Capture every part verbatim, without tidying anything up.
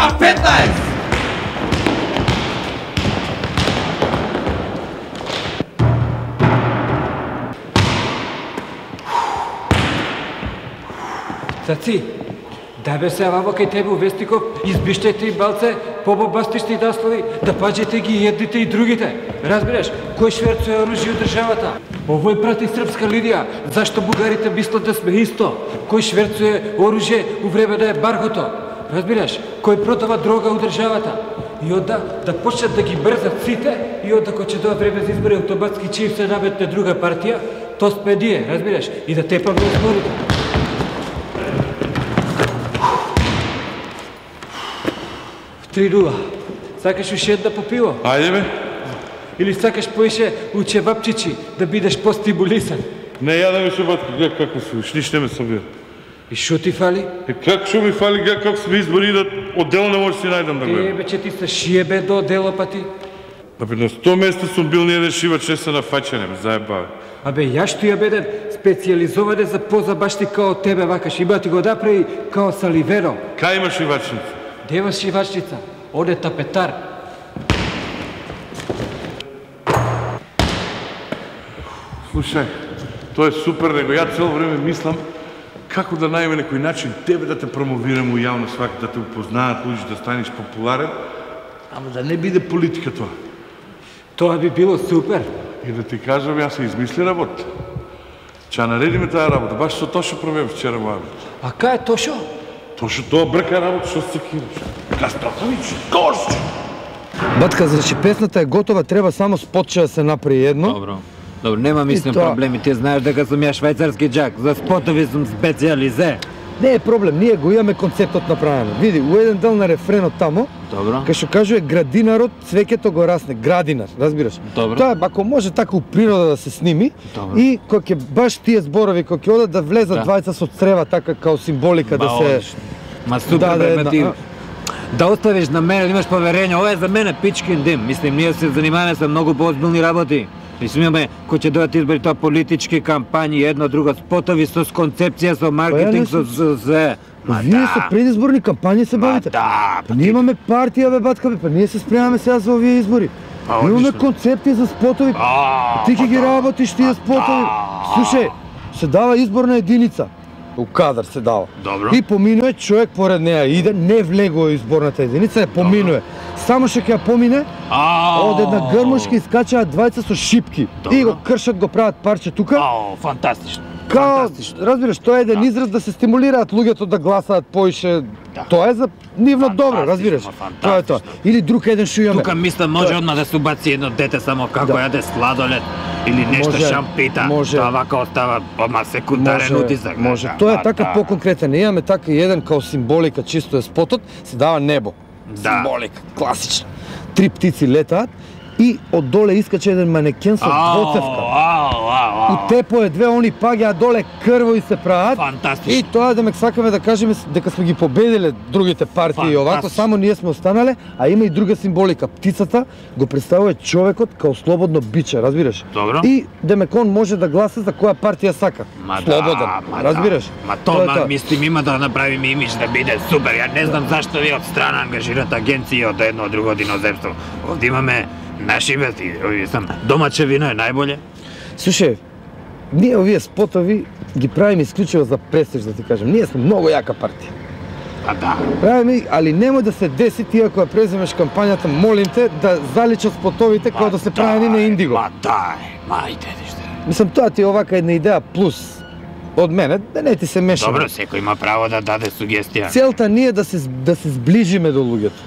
на петнаесет. Цаци, да бе се ваво кај тебе Вестиков, избиштајте и балце, побобастиште и даслови, да паđете ги и едните и другите. Разбираш, кој шверцуе оружје у државата? Овој прати српска Лидија, зашто бугарите мислат да сме исто? Кој шверцуе оружје у време да е баргото? Разбираш, кој продава дрога у државата? И онда да почнат да ги брзат сите, и онда кој ќе доа време за избори автоматски чим се наметне друга партија, то сме ние, разбираш, и да тепаме изборите. Три нула. Сакаш уште една по пиво? Ајде бе. Или сакаш поише у чевапчичи да бидеш постимулисан? Не јадаме шебатки, гледа како се, уште ништо не ме собира. И шо ти фали? Е, како шо ми фали, гледа како сме избори да одделно не може си најдам да гледам. Ебе, че ти се шиебе до дело па ти. Абе, на сто места сум бил ниједен шивач не се нафаќане, ме заебаве. Абе, ја што ја беден специјализоване за позабашти као тебе, вакаш, има ти го направи као Саливеро. Кај има шивачница? Де има шивачница? Оде тапетар. Слушај, тоа е супер, него ја цело време мислам како да најме некој начин тебе да те промовирам у јавно свак, да те упознаат луѓе, да станеш популарен, ама да не биде политика тоа. Тоа би било супер. И да ти кажам, јас се измисли работа. Ќе наредиме таа работа, баш со Тошо провев вчера во Авит. А кај е Тошо? Тошо тоа брка работа, што се кириш? Кастатович, Тошо! Батка, значи песната е готова, треба само спотче да се направи едно. Добро. Добро, нема мислам тоа... проблеми, ти знаеш дека сум ја швајцарски џак, за спотови сум специјализе. Не е проблем, ние го имаме концептот направено. Види, у еден дел на рефренот тамо, Добро. кај што кажува градинарот, цвеќето го расне, градинар, разбираш? Добро. Тоа, ако може така у природа да се сними, Добро. и кога ќе баш тие зборови кога ќе одат да влезат Да. двајца со црева така као символика да се... Ма супер, Да, да, бе, една, ти... а. Да оставиш на мене, да имаш поверење, ова е за мене пичкин дим. Мислим, ние се занимаваме со многу поозбилни работи. Мислим, имаме, кој ќе дојдат избори, тоа политички кампањи, едно друго, спотови со концепција, со маркетинг, со со се. Ма Вие да. со предизборни кампањи се Ма бавите. да, Па ние имаме партија, бе, батка, бе, па ние се спремаме сега за овие избори. Па, Имаме одлично. концепти за спотови. А, Ти ќе па ги да. работиш тие спотови. Слушај, се дава изборна единица. У кадар се дава. Добро. И поминува човек поред неа иде, не влегува изборната единица, ја поминува. Само што ќе ја помине, А, од една грмушка искачаат двајца со шипки. Добро. И го кршат, го прават парче тука. Ао, фантастично. Као, Фантастично. разбираш, тоа е еден израз да се стимулираат луѓето да гласаат поише. Тоа е за нивно добро, разбираш. Фантастично, Тоа е тоа. Или друг еден што имаме. Тука мислам може одма да се убаци едно дете само како Да. јаде сладолед или нешто Може, шампита. може. Тоа вака остава одма секундарен утисак. Може. да, Тоа е да, така да. поконкретен. Ние имаме така и еден као символика, чисто е спотот, се дава небо. Да. Символика, класична. Три птици летаат и од доле искача еден манекен со двоцевка. Ау, ау, ау. У тепо е две, они паѓаат доле крво и се прават. Фантастично. И тоа да ме сакаме да кажеме дека сме ги победиле другите партии и овако, Фантастично. само ние сме останале, а има и друга символика. Птицата го представува човекот као слободно биче, разбираш? Добро. И демек он може да гласа за која партија сака. Ма Слободен, да, ма разбираш? Да. Ма Тоа е тоа, тоа. мислим, има да направиме имидж да биде супер. Ја не знам зашто ви од страна ангажират агенции од едно од друго од иноземство. Овде имаме наши вести, овие сам. Домаче вино е најболje. Слушај, ние овие спотови ги правиме исклучиво за престиж, да ти кажем. Ние сме многу јака партија. Па да. Правиме, али немој да се деси ти ако ја преземеш кампањата, молим те да заличат спотовите како да се правени на Индиго. Ма дај, мајте ниште. Мислам, тоа ти е овака една идеја плюс од мене, да не ти се мешаме. Добро, секој има право да даде сугестија. Целта ни е да се да се сближиме до луѓето.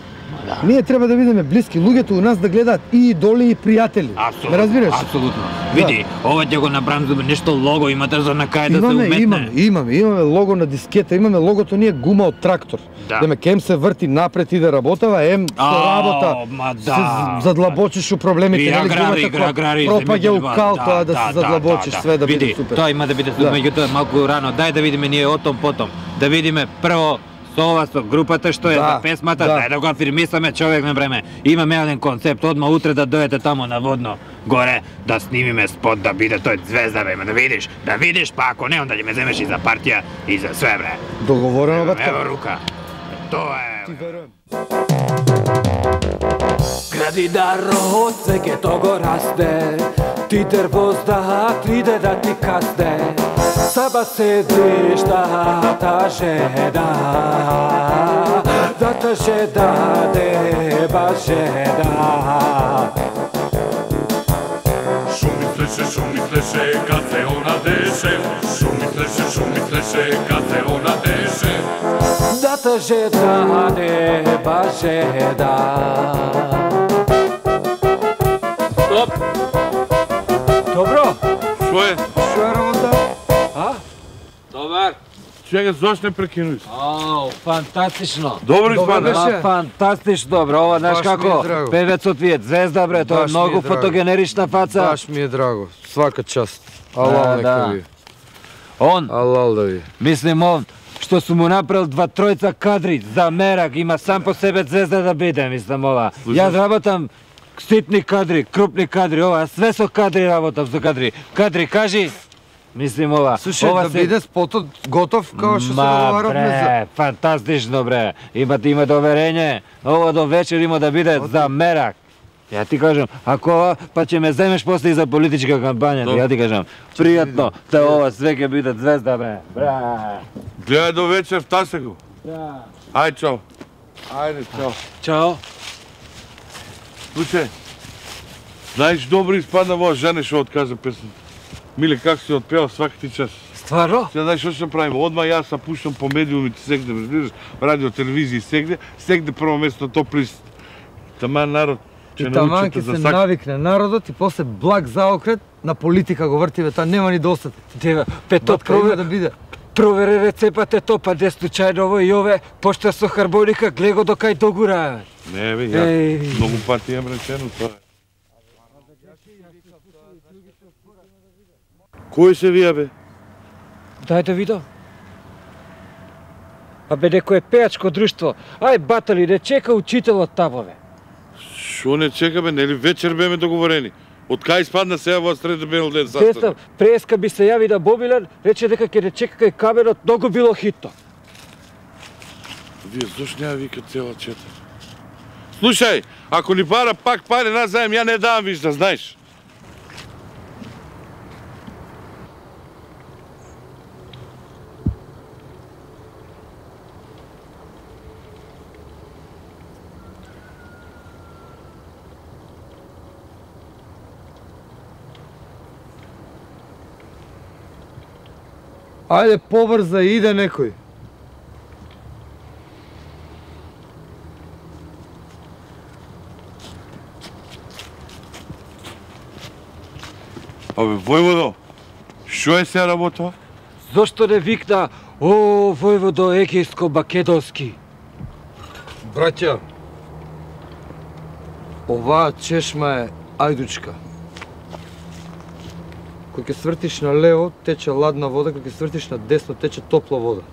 Да. Ние треба да бидеме блиски, луѓето у нас да гледаат и идоли и пријатели. Апсолутно. Ме разбираш? Апсолутно. Види, ова ќе го направам за нешто лого, имате за на кај да се Имаме, уметне. имаме, имаме, имаме лого на дискета, имаме логото ние гума од трактор. Да. Деме ем се врти напред и да работава, ем со Ао, работа. ма да. Се задлабочиш у проблемите, И нели аграри, гумата која аграри, пропаѓа у земјоделба, кал, да, тоа да да, се задлабочиш, да, све да Види, биде супер. тоа има да биде супер, Да. меѓутоа малку рано. Дај да видиме ние отом потом. Да видиме прво со ова со групата што е Да, за песмата, да. дај да го афирмисаме човек на време. Имаме еден концепт, одма утре да дојдете тамо на водно горе, да снимиме спот, да биде тој звезда, бе, да видиш, да видиш, па ако не, онда ќе ме земеш и за партија и за све, бре. Договорено, батка. Ево рука. Тоа е. Ти верувам. Гради народ, секе того расте, ти дервозда, триде да ти касте. Саба седиш да та жеда, да та жеда, деба жеда. Шо мислеше, шо мислеше, кад се она деше, шо мислеше, шо мислеше, кад се она деше. Да та жеда, деба жеда. Стоп! Добро! Шо е? Што е работа? А? Добар! Чека, зошто не прекинуш? Ау, фантастично! Добро испадна. беше. А, фантастично добро, ова знаеш Баш ми е како? драго. Певецот ви е звезда бре, тоа е Баш ми е многу драго. фотогенерична фаца. Баш ми е драго. Свака част. Алал Да, нека да. ви. Он, Алал да ви. мислим он, што су му направил два тројца кадри за мерак, има сам по себе звезда да биде, мислам ова. Јас работам ситни кадри, крупни кадри, ова, све со кадри работам, со кадри. Кадри, кажи, мислим ова. Слушај, ова да биде спотот готов као што се договаравме за... бре, фантастично бре. Имате има доверење, ова до вечер има да биде за мерак. Ја ти кажам, ако ова, па ќе ме земеш после и за политичка кампања, Добро. ја ти кажам, пријатно, да ова све ќе биде звезда бре. Бра. Гледај до вечер, втасе го. Да. Ај, чао. Ајде, чао. Чао! Слушај, знаеш добро испадна во жене што откажа песната. Миле, како си отпева сваки ти час. Стварно? Сега знаеш што ќе правиме? Одма јас се пуштам по медиумите сегде, разбираш, радио, телевизија сегде, сегде прво место топ лист. Таман народ И ќе таман научите ќе за се сак. навикне народот и после благ заокрет на политика го вртиве, та нема ни достат. Дева, пето Батка има провер... да биде. Провери рецепата то, па де случајно ово и ове, пошта со харбоника, гледа го до кај догура. Не бе, Еј. ја многу пати имам речено тоа. Кој се вија бе? Дај да видам. А бе, некој е пеачко друштво. Ај, батали, не чека учителот тамо, бе. Шо не чека бе, нели вечер беме договорени? Од кај испадна сега во среда бел ден Дестав, састанок? преска би се јави на Бобилен, рече дека ќе не чека кај камерот, многу било хитно. Вие зошто не ја вика цела чета? Слушај, ако ни бара пак пари назаем, ја не давам виж да знаеш. Ајде побрза, иде некој. Абе, војводо, што е се работа? Зошто не викна, о, војводо егејско-македонски? Браќа, оваа чешма е ајдучка. Кога ќе свртиш на лево, тече ладна вода, кога ќе свртиш на десно, тече топла вода.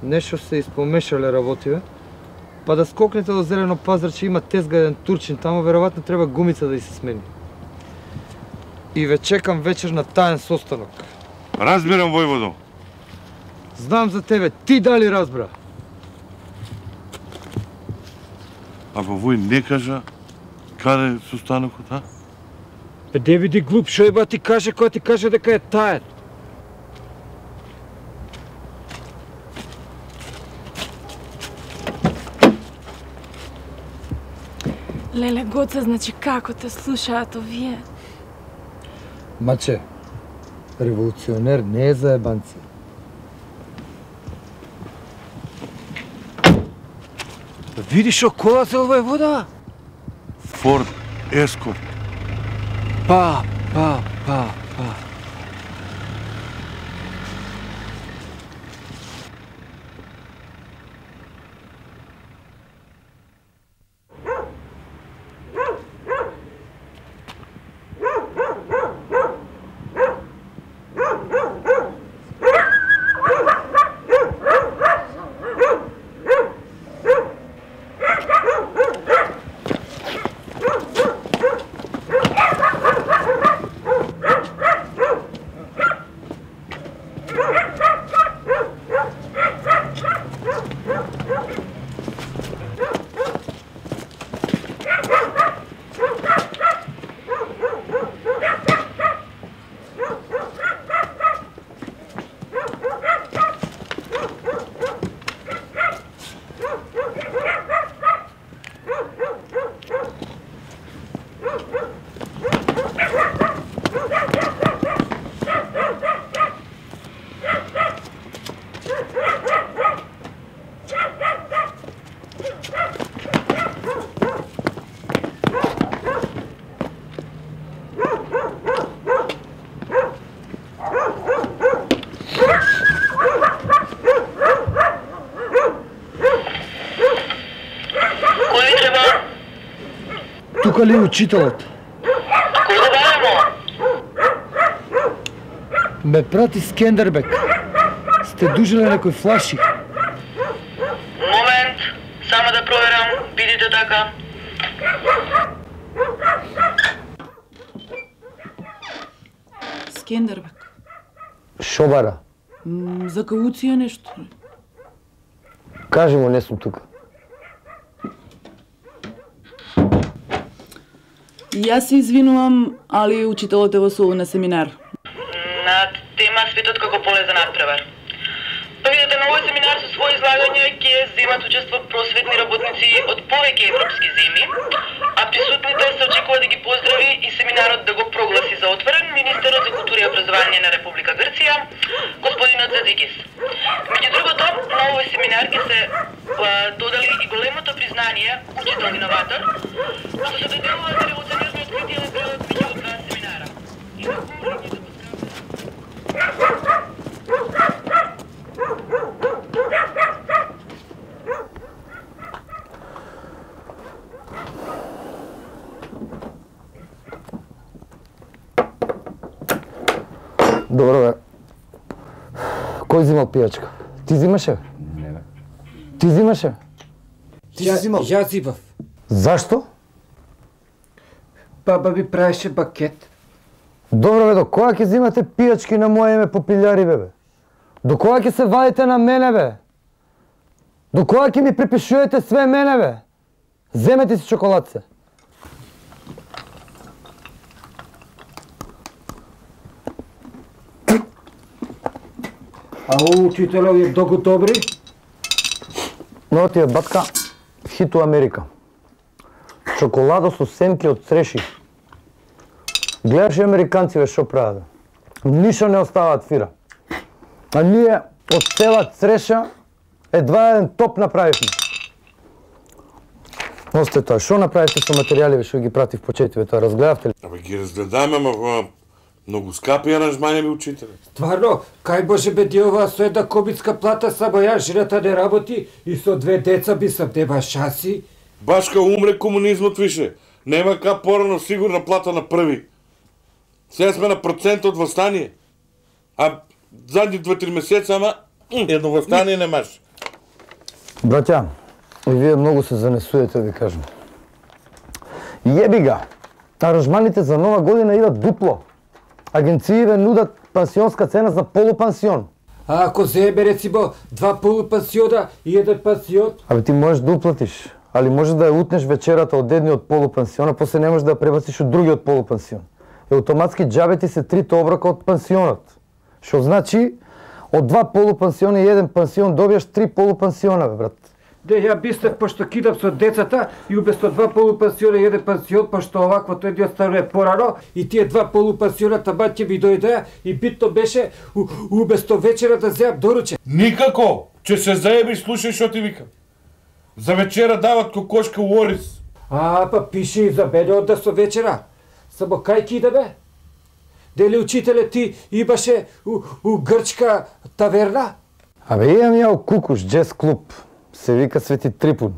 Нешто се испомешале работиве, па да скокнете до Зелено пазарче, има тезга еден турчин, тамо веројатно треба гумица да и се смени. И ве чекам вечер на таен состанок. Разбирам, војводо. Знам за тебе, ти дали разбра? А во вој не кажа каде е состанокот, а? Бе, не види глуп, шо еба ти каже, која ти каже дека е таен? Леле, Гоце, значи како те слушаат овие? Маче, револуционер не е за ебанци. Видиш шо кола се ова е вода? Форд Ескорт. Па, па, па, па. Тука ли е учителот? Кој го барамо? Ме прати Скендербек. Сте дужеле некој флаши. Момент, само да проверам, бидите така. Скендербек. Шо бара? М, За кауција нешто. Кажи му, не сум тука. Јас се извинувам, али учителот е во Солу на семинар. На тема Светот како поле за надпревар. Па видите, на овој семинар со своји излагања ќе земат учество просветни работници од повеќе европски земји, а присутните се очекува да ги поздрави и семинарот да го прогласи за отворен министерот за култура и образование на Република Грција, господинот Зазикис. Меѓу другото, на овој семинар ќе се а, додали и големото признание учител иноватор, што се доделува за револуционерно откритие на период меѓу два семинара. И на Добро бе. Кој зимал пијачка? Ти зимаше? Не бе. Ти зимаше? Ти си зимал? Јас зимав. Зашто? Баба ми правеше бакет. Добро бе, до кога ќе зимате пијачки на моје име по пилјари бе? До кога ќе се вадите на мене бе? До кога ќе ми припишувате све мене бе? Земете си чоколадце. А о учителови е долго добри? Но ти е батка хит у Америка. Чоколадо со семки од цреши. Гледаш и американци бе шо прават. Ништо не оставаат фира. А ние од цела цреша едва еден топ направивме. Осте тоа, шо направите со материјали што ги пратив по четиве, тоа разгледавте ли? Абе ги разгледаме, ама многу скапи аранжмани ми учителе. Стварно, кај може бе диова со една кобицка плата, само ја жената не работи и со две деца би сам нема шанси. Башка умре комунизмот више. Нема ка порано сигурна плата на први. Сега сме на процент од восстание. А задни два-три месеца, ама едно восстание немаш. Браќа, и вие многу се занесуете, ви кажам. Јеби га, аранжманите за нова година идат дупло. Агенциите нудат пансионска цена за полупансион. А ако земе рецимо два полупансиона и еден пансион? Абе ти можеш да уплатиш, али може да ја утнеш вечерата од едниот полупансион, а после не можеш да ја пребациш од другиот полупансион. И автоматски џабе ти се трите оброка од пансионот. Што значи, од два полупансиона и еден пансион добиеш три полупансиона, бе, брат. Де ја бистев пошто кидам со децата и уместо два полупансиона и еден пансион, пошто оваквото едни оставува порано и тие два полупансиона таба ќе ми дојдеа и битно беше у, уместо вечера да земам доруче. Никако! Че се заебиш, слушај што ти викам. За вечера дават кокошка у Орис. А, па пише и за мене онда со вечера. Само кај ки да бе? Дели учителе ти имаше у, у грчка таверна? Абе имам ја у Кукуш, джез клуб. Се вика Свети Трипун.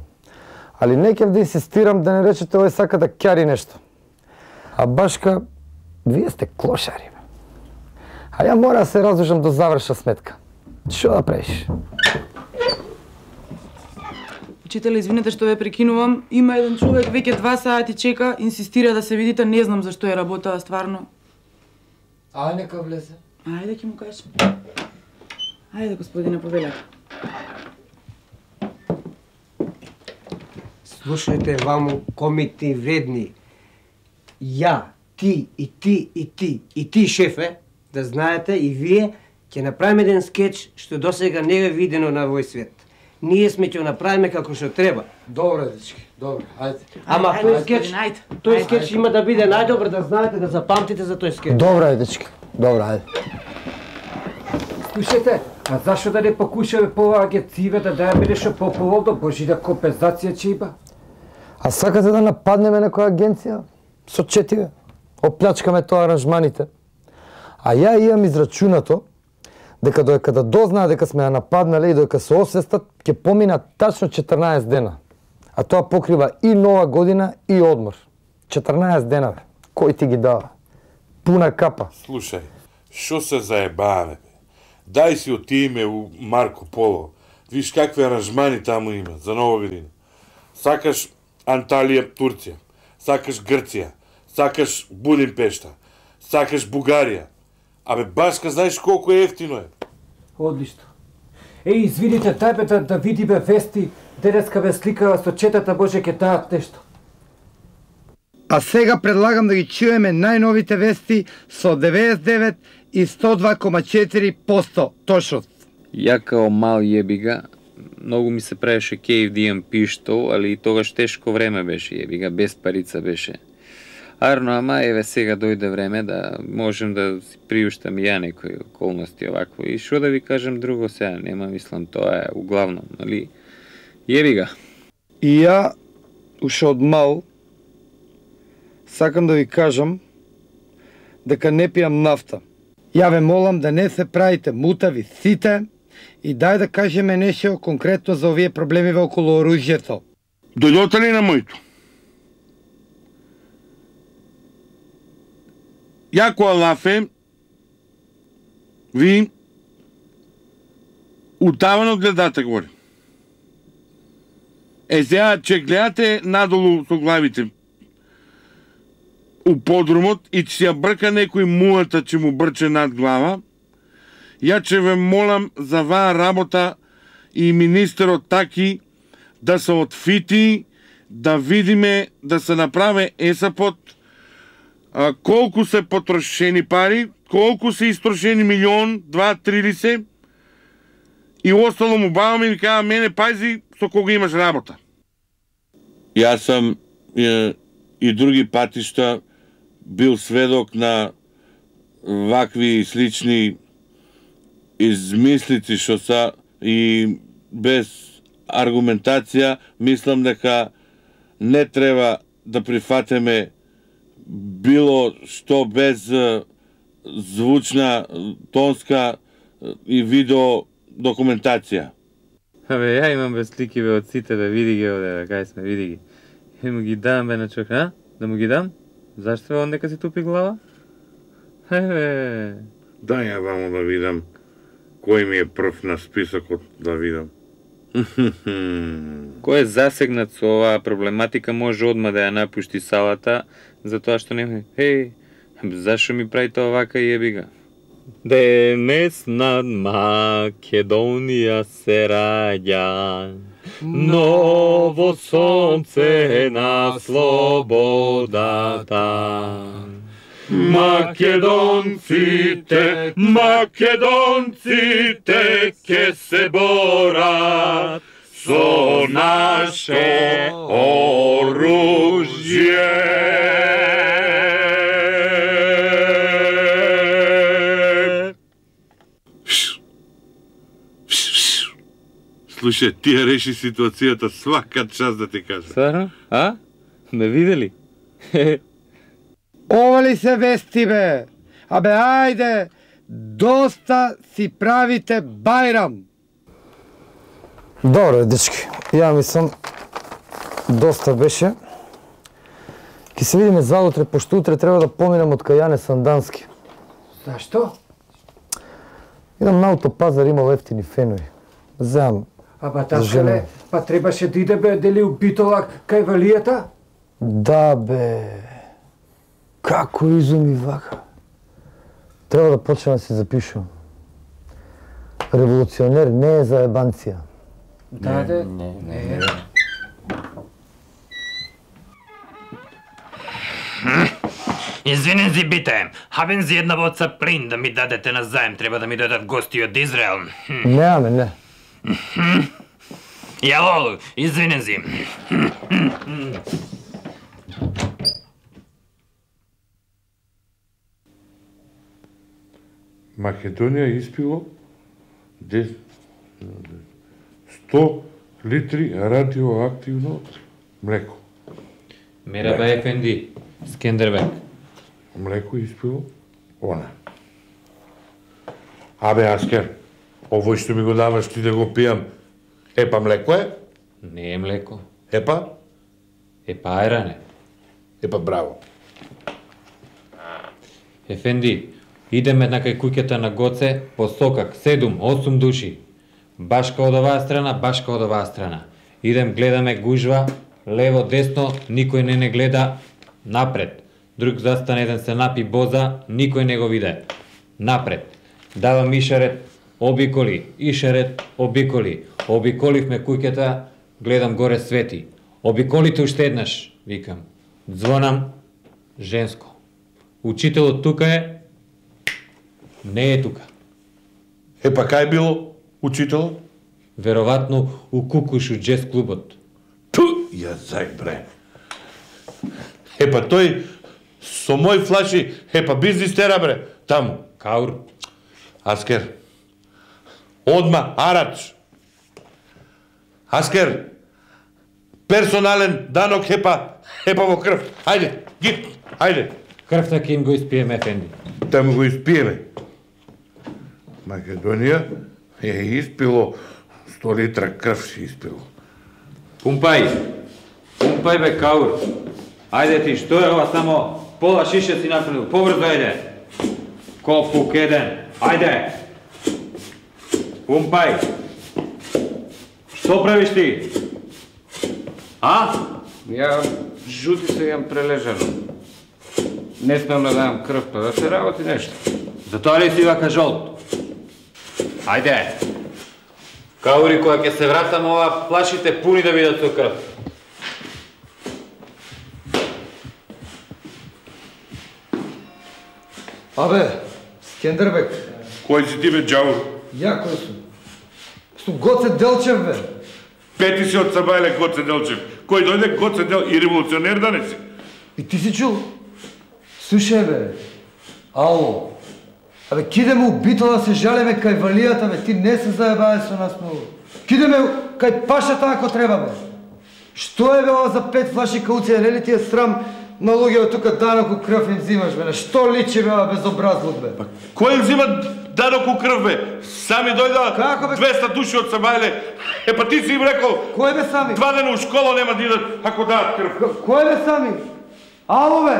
Али не ќе да инсистирам да не речете овој сака да ќари нешто. А башка, вие сте клошари. Бе. А ја мора да се разлужам до заврша сметка. Што да правиш? Учителе, извинете што ве прекинувам. Има еден човек веќе два сати чека, инсистира да се видите, не знам зашто е работа, стварно. А нека влезе. Ајде ќе му кажем. Ајде, господине, повелете. Слушајте, ваму комити вредни. Ја, ти и ти и ти и ти, шефе, да знаете и вие Ќе направиме еден скеч што досега не е видено на овој свет. Ние сме ќе го направиме како што треба. Добре, дечки, добре, ајде. Ама тој скеч, тој скеч има да биде најдобар, да знаете, да запамтите за тој скеч. Добре, дечки, добре, ајде. Слушайте, а зашо да не покушаме по оваа агенција да дајаме нешто по-поволно, може да компензација ќе има? А сакате да нападнеме некоја агенција? Со четиве. Оплячкаме тоа аранжманите. А ја имам израчунато дека доека да дознаат дека сме ја нападнале и доека се освестат, ќе помина тачно четрнаесет дена. А тоа покрива и нова година и одмор. четрнаесет дена, бе. Кој ти ги дава? Пуна капа. Слушај, шо се заебаваме, бе? Дај си отиме у Марко Поло. Виж какви аранжмани таму има за нова година. Сакаш Анталија, Турција. Сакаш Грција. Сакаш Будимпешта. Сакаш Бугарија. Абе, башка, знаеш колку е ефтино е? Одлично. Еј, извините, дај бе да, да видиме вести, денеска бе сликава со четата, може ке таат нешто. А сега предлагам да ги чуеме најновите вести со деветдесет и девет и сто два кома четири проценти точност. Ја као мал јебига, многу ми се правеше кејф да имам пиштол, али и тогаш тешко време беше јебига, без парица беше. Арно, ама еве сега дојде време да можем да си приуштам и ја некои околности овакво. И шо да ви кажем друго сега, нема мислам, тоа е углавном, нали? Јебига. И ја, уште од мал, сакам да ви кажам дека не пијам нафта. Ја ве молам да не се правите мутави сите и дај да кажеме нешто конкретно за овие проблеми околу оружјето. Дојдоте ли на моето? Ја која лафе, ви утавано гледате горе. Е, сега, че гледате надолу со главите у подрумот и че ја брка некој муата че му брче над глава, ја че ве молам за ваа работа и министерот таки да се отфити, да видиме, да се направи есапот, а, колку се потрошени пари, колку се истрошени милион, два, три ли се, и остало му баваме и ми кажа, мене пази со кога имаш работа. Јас сам е, и други патишта бил сведок на вакви слични измислици што са и без аргументација мислам дека не треба да прифатеме било што без звучна, тонска и видео документација. Абе, ја имам бе слики бе од сите, бе, види ги оде, кај сме, види ги. И му ги дам бе на човек, а? Да му ги дам? Зашто он дека си тупи глава? Еве. Дај ја вамо да видам кој ми е прв на списокот да видам. Кој е засегнат со оваа проблематика може одма да ја напушти салата, затоа што нема. Еј, зашо ми правите овака јебига? Денес над Македонија се раѓа ново сонце на слободата. Македонците, македонците ке се борат со наше оружје. Слушај, ти ја реши ситуацијата свака час да ти кажа. Сварно? А? Ме видели? Ова ли се вести, бе? Абе, ајде, доста си правите бајрам. Добре, дечки, ја мислам, доста беше. Ке се видиме заутре, пошто утре треба да поминам од кај Јане Сандански. Зашто? Идам на Аутопазар, имал ефтини фенови. Земам. Ама таскале, па требаше да иде бе дели у Битолак кај Валијата? Да, бе. Како изуми вака? Треба да почнем да се запишувам. Револуционер не е за ебанција. Да, не, не, не. Извинен си, бите. Хабен си една боца плин да ми дадете назаем. Треба да ми дадат гости од Израел. Немаме, не. Јало, извинен си. Македонија испило сто литри радиоактивно млеко. Мераба Ефенди, Скендербек. Млеко испило она. Абе, Аскер, овој што ми го даваш ти да го пијам, епа млеко е? Не е млеко. Епа? Епа ајране. Епа браво. Ефенди, идеме на кај куќата на Гоце по сокак, седум, осум души. Башка од оваа страна, башка од оваа страна. Идем, гледаме гужва, лево, десно, никој не не гледа, напред. Друг застане, еден се напи боза, никој не го виде. Напред. Давам ишарет, обиколи, ишарет, обиколи. Обиколивме куќата, гледам горе свети. Обиколите уште еднаш, викам. Звонам, женско. Учителот тука е, не е тука. Епа кај било учителот? Веројатно у Кукуш у джез клубот. Ту, ја зај бре. Епа тој со мој флаши, епа бизнис тера бре, таму. Каур. Аскер. Одма, арач. Аскер. Персонален данок епа, епа во крв. Ајде, ги, ајде. Крвта ќе им го испиеме, Ефенди. Таму го испиеме. Македонија е испило сто литра крв си испило. Пумпај. Пумпај бе, Каур. Ајде ти, што е ова само пола шише си направил. Побрзо ајде. Копук еден. Ајде. Пумпај. Што правиш ти? А? Ја жути се јам прележано. Не смем да дам крв, па да се работи нешто. Затоа ли си вака жолт? Ајде. Каури, која ќе се вратам ова, плашите пуни да бидат со крв. Абе, Скендербек. Кој си ти бе, џавор? Ја кој сум? Сум Гоце Делчев, бе. Пети си од Сабајле Гоце Делчев. Кој дојде Гоце Дел и револуционер да не си? И ти си чул? Слушај, бе. Ало. Абе, кидеме у Битола да се жалеме кај валијата, бе. Ти не се заебаве со нас многу. Кидеме кај пашата ако треба, бе. Што е, бе, ова за пет флаши кауција? Не ли ти е срам на луѓето тука даноку крв им взимаш, бе? На што личи, бе, ова безобразлук, бе? Па, кој им взима даноку крв, бе? Сами дојда Како, бе? двеста души од Сабајле. Е, па ти си им рекол, Кој бе сами? два дена у школа нема да идат ако дадат крв. К- Кој бе сами? Ало, бе?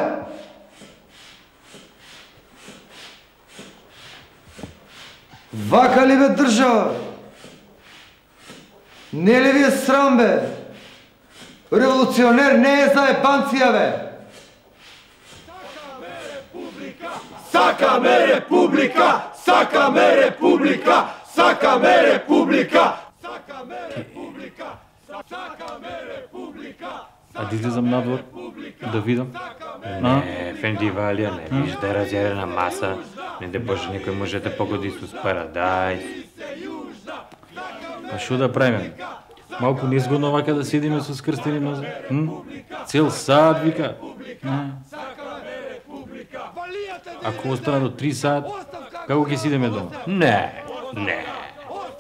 Вака ли бе држава? Не ли ви е срам, бе? Револуционер не е за ебанција, бе! Сакаме република! Сакаме република! Сакаме република! Сакаме република! Сакаме република! А да излезам надвор, да видам. Не, Ефенди Валија, не виж да е разјарена маса. Не де Боже, некој може да погоди со парадајс. А што да правиме? Малку незгодно вака да седиме со скрстени нозе. М? Цел саат вика. М? Ако остана до три саат, како ќе сидеме дома? Не, не.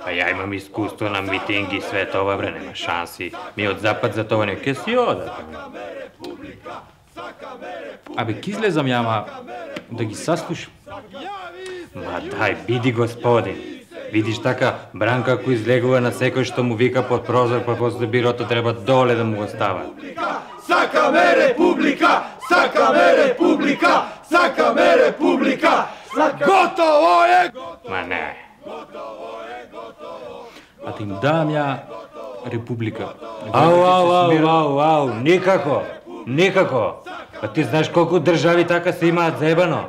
Па ја имам искуство на митинги и све тоа, бре, нема шанси. Ми од запад за тоа не ке си одат. Абе, ки излезам ја, ама да ги саслушам. Ма дај, биди господин. Видиш така, Бранка ако излегува на секој што му вика под прозор, па после бирото треба доле да му го стават. Сакаме република! Сакаме република! Сакаме република! Готово е! Ма не. А да им дам ја република. Ау, ау, ау, ау, ау, никако, никако. Па ти знаеш колку држави така се имаат заебано.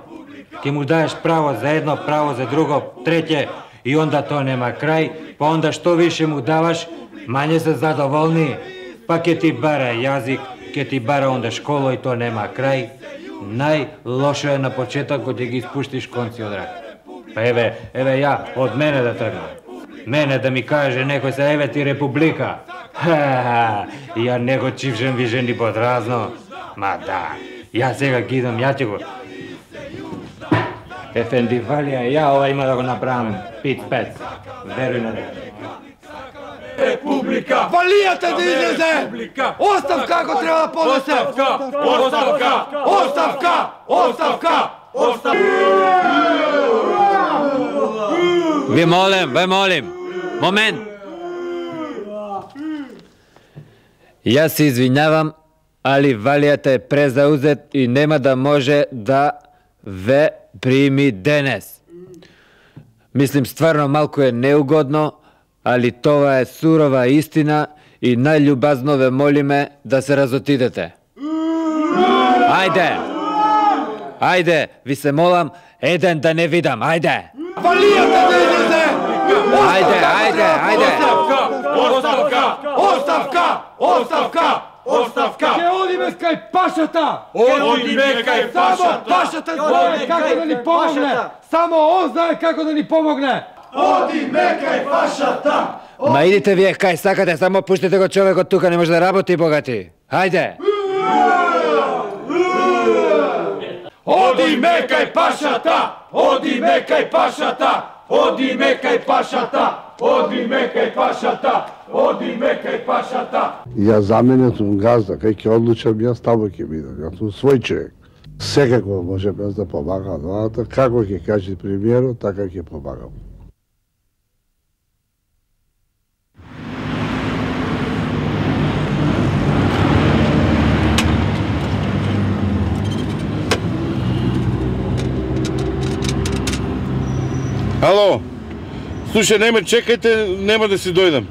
Ке му даеш право за едно, право за друго, треќе, и онда тоа нема крај, па онда што више му даваш, мање се задоволни, па ке ти бара јазик, ке ти бара онда школа и тоа нема крај. Најлошо е на почеток кога ќе ги испуштиш конци од рака. Па еве, еве ја, од мене да тргнам. Мене да ми каже некој се еве ти република. Ха, ја не го чивжем више ни подразно. Ма да, ја сега ги идам, ја ќе го... Ефенди Валија, ја ова има да го направам пит-пет. Веруј на дека. Република! Валијата да излезе! Оставка ако треба да поднесе! Оставка! Оставка! Оставка! Оставка! Ви молим, ви молим. Момент. Јас се извинявам, али Валијата е презаузет и нема да може да ве прими денес. Мислим, стварно малку е неугодно, али тоа е сурова истина и најљубазно ве молиме да се разотидете. Ајде! Ајде, ви се молам, еден да не видам, ајде! Валијата да излезе! Ајде, ајде, ајде! Оставка! Оставка! Оставка! Оставка! Ке одиме кај пашата! Одиме кај Само пашата! пашата знае како да ни помогне! Само он знае како да ни помогне! Одиме кај пашата! Ма идите вие кај сакате, само пуштите го човекот тука, не може да работи, богати. Хајде! Одиме кај пашата! Одиме кај пашата! Одиме кај пашата! Одиме кај пашата! Одиме кај пашата! Ја за мене сум газда, кај ќе одлучам јас, таму ќе бидам. Јас сум свој човек. Секако може без да помагам владата, како ќе каже премиерот, така ќе помагам. Ало, слушај, не ме чекајте, нема да си дојдам.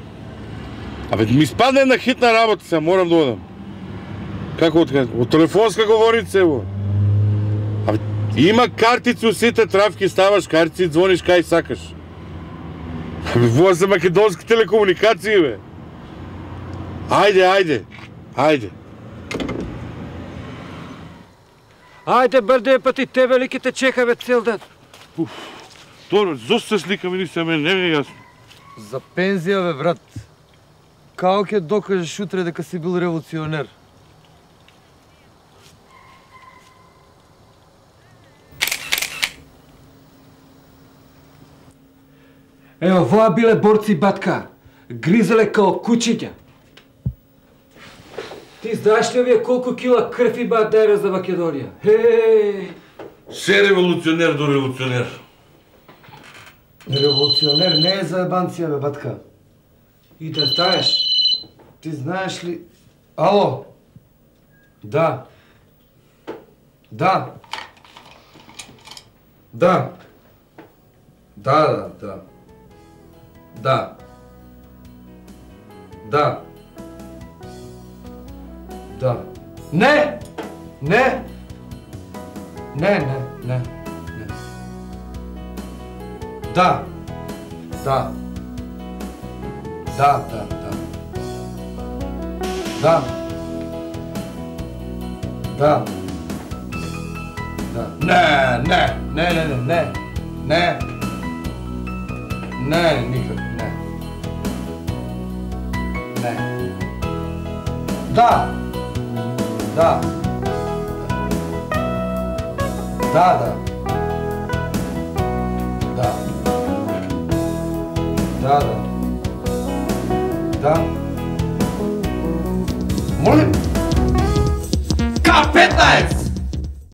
Абе, ми спадне една хитна работа, се морам да одам. Како од кај? Од телефонска говорица, ево. Абе, има картици у сите трафки, ставаш картици и звониш кај сакаш. Абе, во се македонски телекомуникации, бе. Ајде, ајде, ајде. Ајде, брде, па ти те великите чека, бе, цел ден. Добро, зошто се слика, ми се, мене не е јасно. За пензија, бе, брат. Како ќе докажеш утре дека си бил револуционер? Ево, воа биле борци батка. Гризеле као кучиња. Ти знаеш ли овие колку кила крв има дерес за Македонија? Хеј! Се револуционер до револуционер. Револуционер не е заебанција, бе, батка. И да знаеш. Ти знаеш ли... Ало? Да. Да. Да. Да, да, да. Да. Да. Да. Не! Не! Не, не, не, не. Да. Да. Да, да, да. Да. Да. Да. Не, не, не, не, не, не. Не. Не, никак, не. Не. Да. Да. Да, да. Да. Да, да. Да. Молим. К петнаест!